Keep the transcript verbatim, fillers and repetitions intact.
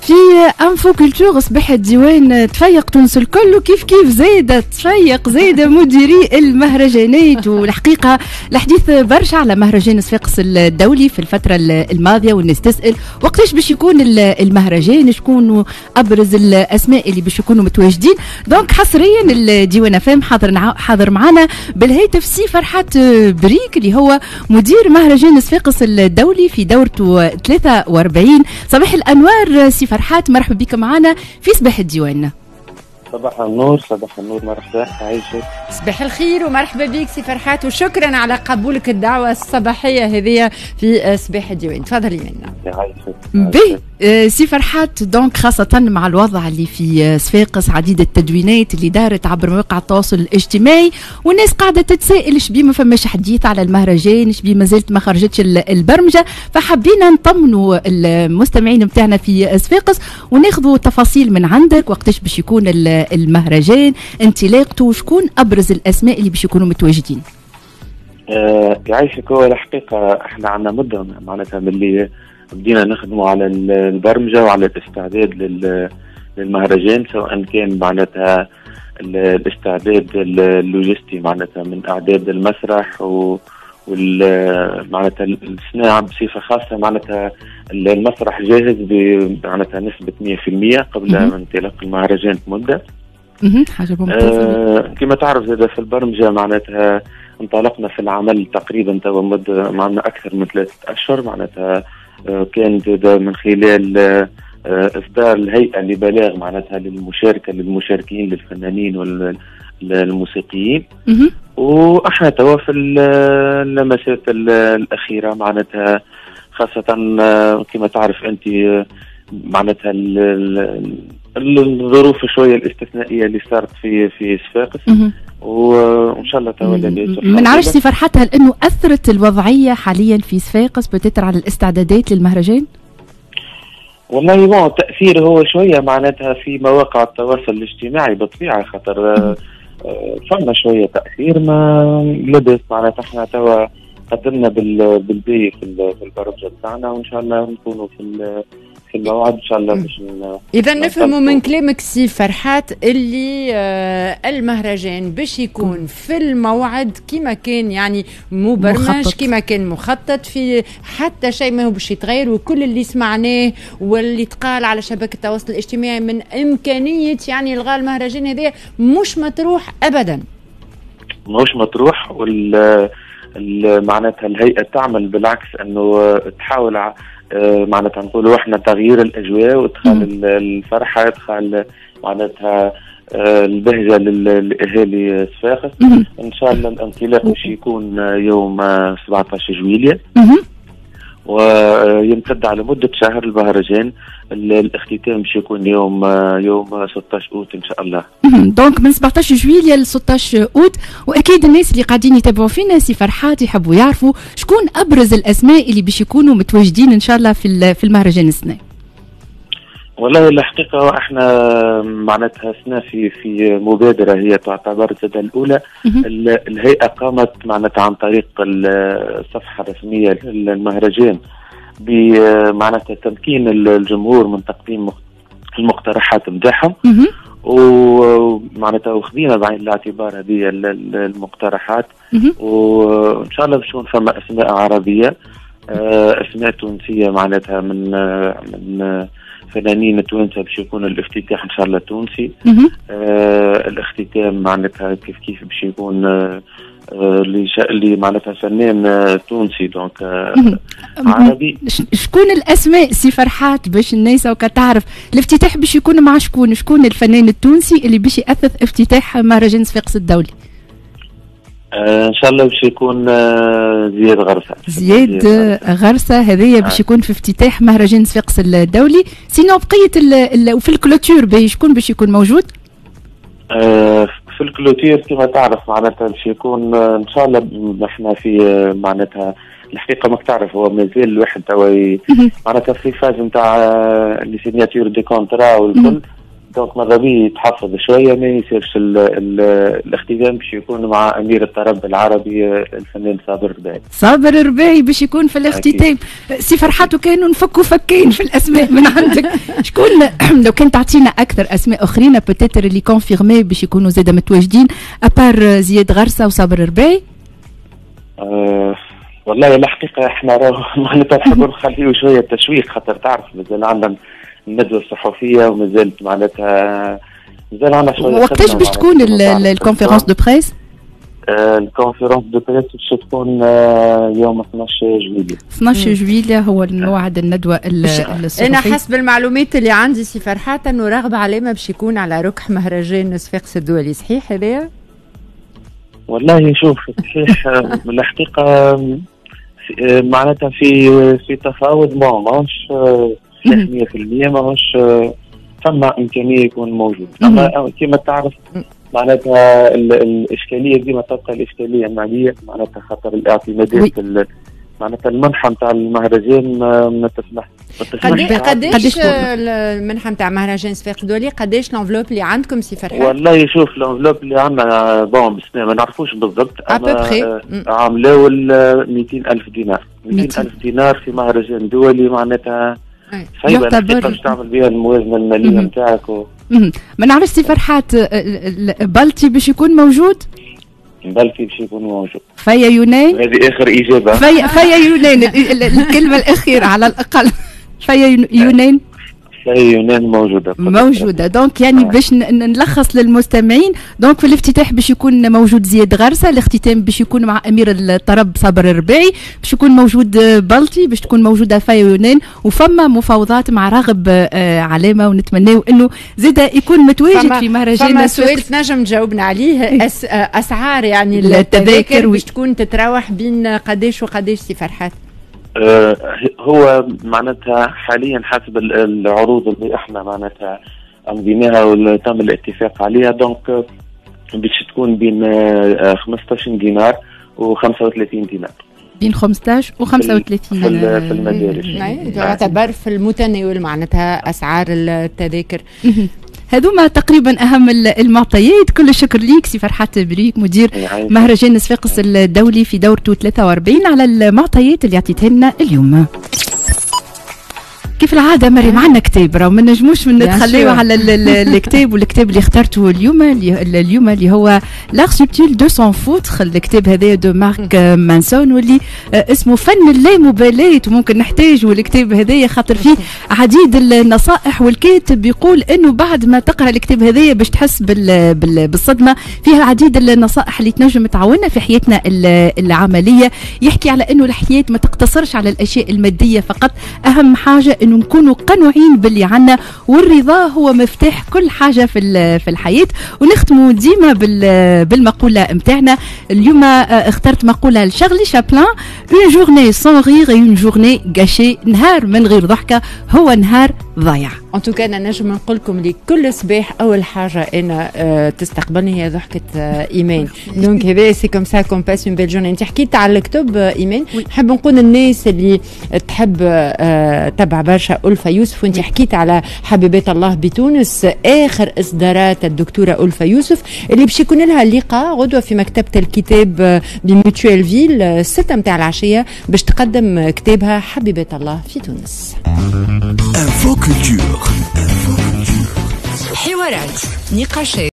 في info culture صباح الديوان تفيق تونس الكل، وكيف كيف زايدة تفيق زايدة مديري المهرجانات. والحقيقة الحديث برشا على مهرجان صفاقس الدولي في الفترة الماضية، والناس تسال وقتاش باش يكون المهرجان، شكون ابرز الاسماء اللي باش يكونوا متواجدين. donc حصريا الديوان اف ام حاضر حاضر معنا بالهاتف سي فرحات بريك اللي هو مدير مهرجان صفاقس الدولي في دورته ثلاثة وأربعين. صباح الانوار سي فرحات، مرحبا بك معنا في صباح الديوان. صباح النور. صباح النور، مرحبا، عايشك. صباح الخير ومرحبا بك سي فرحات، وشكرا على قبولك الدعوة الصباحية هذه في صباح الديوان. تفضلي منا. يعيشك. باهي سي فرحات، donc خاصة مع الوضع اللي في صفاقس، عديد التدوينات اللي دارت عبر مواقع التواصل الاجتماعي، والناس قاعدة تتساءل شبيه ما فماش حديث على المهرجان، شبيه ما زالت ما خرجتش البرمجة. فحبينا نطمنوا المستمعين نتاعنا في صفاقس وناخذوا تفاصيل من عندك، وقتاش باش يكون المهرجان، انطلاقته، وشكون ابرز الاسماء اللي باش يكونوا متواجدين. آه يعيشك. هو الحقيقة احنا عندنا مده معناتها من اللي بدينا نخدموا على البرمجة وعلى الاستعداد للمهرجان، سواء كان معناتها الاستعداد اللوجستي معناتها من اعداد المسرح و وال معناتها الصناعة بصفة خاصة. معناتها المسرح جاهز معناتها نسبه مية في المية قبل انطلاق المهرجان بمدة. حاجة ممتازة. آه كما تعرف زاد في البرمجة معناتها انطلقنا في العمل تقريبا توا مده معنا اكثر من ثلاثة اشهر. معناتها آه كان زاد من خلال آه اصدار الهيئة لبلاغ معناتها للمشاركة للمشاركين للفنانين والموسيقيين. واحنا توا في اللمسات الاخيرة معناتها خاصة كما تعرف انت معناتها الظروف شوية الاستثنائية اللي صارت في في صفاقس، وان شاء الله توا لاباس. ما نعرفش سي فرحات، هل انه اثرت الوضعية حاليا في صفاقس peut-être على الاستعدادات للمهرجان؟ والله bon التاثير هو شوية معناتها في مواقع التواصل الاجتماعي بالطبيعة، خاطر فما شوية تاثير، ما لاباس معناتها احنا توا قدمنا بالبي في البرمجة بتاعنا، وان شاء الله نكونوا في في الموعد ان شاء الله. باش اذا نفهموا من كلامك سي فرحات اللي آه المهرجان باش يكون في الموعد كما كان يعني مبرمج، كما كان مخطط، في حتى شيء ما هو باش يتغير، وكل اللي سمعناه واللي تقال على شبكة التواصل الاجتماعي من امكانية يعني الغاء المهرجان هذا مش مطروح ابدا. مش مطروح، وال معناتها الهيئة تعمل بالعكس انه تحاول معناتها نقولوا احنا تغيير الاجواء وادخال الفرحة، ادخال معناتها البهجة للاهالي صفاقس. ان شاء الله الانطلاق باش يكون يوم سبعطاش جويلية ويمتد على مده شهر المهرجان. الاختتام باش يكون يوم يوم ستطاش اوت ان شاء الله. donc من سبعطاش جويلية ل ستطاش اوت. واكيد الناس اللي قاعدين يتابعوا فينا سي فرحات يحبوا يعرفوا شكون ابرز الاسماء اللي باش يكونوا متواجدين ان شاء الله في في المهرجان السنة. والله الحقيقة احنا معناتها سنة في في مبادرة هي تعتبر زاد الاولى. الهيئة قامت معناتها عن طريق الصفحة الرسمية للمهرجان بمعناتها تمكين الجمهور من تقديم المقترحات نتاعهم، ومعناتها وخذينا بعين الاعتبار هذه المقترحات، وان شاء الله باش تكون فما اسماء عربية، اسماء تونسية معناتها من من فنانين توانسة باش يكون الافتتاح ان شاء الله تونسي. آه الاختتام معناتها كيف كيف باش يكون آه اللي اللي معناتها فنان آه تونسي donc آه عربي. شكون الاسماء سي فرحات باش الناس وكا تعرف الافتتاح باش يكون مع شكون؟ شكون الفنان التونسي اللي باش يأثث افتتاح مهرجان صفاقس الدولي؟ آه ان شاء الله باش يكون آه زياد غرسه. زياد غرسه هذايا باش يكون في افتتاح مهرجان صفاقس الدولي. sinon بقية وفي ال clôture باش شكون باش يكون موجود؟ آه في ال clôture كما تعرف معناتها باش يكون ان شاء الله احنا في معناتها الحقيقة ماك تعرف هو مازال الواحد توا معناتها في phase نتاع les signatures des contrats والكل، donc ماذا بيه يتحفظ شوية ما يصيرش الاختتام باش يكون مع امير الطرب العربي الفنان صابر الرباعي. صابر الرباعي باش يكون في الاختتام. سي فرحات وكانوا نفكوا فكين في الاسماء من عندك. شكون شكون لو كان تعطينا اكثر اسماء اخرين peut-être اللي confirmés باش يكونوا زاده متواجدين à part زياد غرسه وصابر الرباعي؟ أه والله الحقيقة احنا راهو معناتها نحبوا نخليه شوية تشويق، خاطر تعرف مازال عندنا الندوة الصحفية ومازالت معناتها مازال عندنا شويه. وقتاش باش تكون ال conférence de presse؟ ال conférence de presse باش تكون آه، يوم اثناش جويلية. اثناش جويلية هو الموعد الندوة الصحفية. انا حسب المعلومات اللي عندي سي فرحات انه راغب علامة باش يكون على ركح مهرجان صفاقس الدولي، صحيح هذايا؟ والله شوف، صحيح الحقيقة آه، معناتها في في تفاوض، bon ماهوش صحيح مية في المية، ماهوش، ثم امكانية يكون موجود، اما كما تعرف معناتها الاشكالية ديما تبقى الاشكالية الماليه، معناتها خاطر الاعتمادات معناتها المنحة نتاع المهرجان ما تسمح. قداش المنحة نتاع مهرجان صفاقس الدولي؟ قداش l'enveloppe اللي عندكم سي فرحات؟ والله شوف، l'enveloppe اللي عندنا bon بس ما نعرفوش بالضبط، اما عام الاول ميتين الف دينار. ميتين الف دينار في مهرجان دولي معناتها صعيبة باش تعمل بها الموازنة المالية نتاعك و... ما نعرفش سي فرحات، بلطي باش يكون موجود؟ بلطي باش يكون موجود. فيا يونان؟ هذه اخر اجابه. فيا فيا يونان، الكلمة الاخيرة على الاقل، فيا يونان. يونان موجوده. موجوده. donc يعني آه. باش نلخص للمستمعين، donc في الافتتاح باش يكون موجود زياد غرسه، الاختتام باش يكون مع امير الطرب صابر الرباعي، باش يكون موجود بلطي، باش تكون موجودة فايا يونان، وفما مفاوضات مع راغب آه علامه، ونتمناو انه زاد يكون متواجد في مهرجان. فما سؤال تنجم تجاوبنا عليه، أس اسعار يعني التذاكر باش تكون تتراوح بين قداش وقداش سي فرحات؟ آه، هو معناتها حاليا حسب العروض اللي احنا معناتها امضيناها وتم الاتفاق عليها، donc باش تكون بين خمسطاش دينار و خمسة وثلاثين دينار. بين خمسطاش و خمسة وثلاثين. في, في المدارج. يعتبر في المتناول معناتها اسعار التذاكر. هذوما تقريبا اهم المعطيات. كل الشكر ليك سي فرحات بريك، مدير مهرجان صفاقس الدولي في دورته ثلاثة وأربعين، على المعطيات اللي عطيتها لنا اليوم. كيف العادة مريم عندنا كتاب، راهو ما نجموش من نتخليو على الكتاب، والكتاب اللي اخترته اليوم اليوم اللي هو l'art subtil de s'en foutre، الكتاب هذا de Mark Manson، واللي آه، اسمه فن اللامبالاة. وممكن نحتاجوا الكتاب هذايا خاطر فيه عديد النصائح، والكاتب بيقول انه بعد ما تقرا الكتاب هذايا باش تحس بال بالصدمه. فيها عديد النصائح اللي تنجم تعاوننا في حياتنا العمليه. يحكي على انه الحياة ما تقتصرش على الاشياء المادية فقط، اهم حاجة انه نكونوا قنوعين باللي عنا، والرضا هو مفتاح كل حاجة في في الحياه. ونختموا ديما بالمقوله نتاعنا. اليوم آه، اخترت مقولة لشارلي شابلان: une journée sans rire est une journée gâchée. نهار من غير ضحكه هو نهار ضايع. en tout cas انا نجم نقول لكم اللي كل صباح اول حاجة انا آه، تستقبلني هي ضحكه آه، ايمان، donc هذا c'est comme ça qu'on passe une belle journée. انت حكيت على الكتب ايمان، نحب نقول الناس اللي تحب تبع برشا ألفة يوسف، وانت حكيت على حبيبات الله بتونس، اخر اصدارات الدكتورة ألفة يوسف اللي باش يكون لها لقاء غدوه في مكتبه الكتاب ب Mutuelleville ستة متاع العشية باش تقدم كتابها حبيبات الله في تونس. Info Culture. حوارات، نقاشات.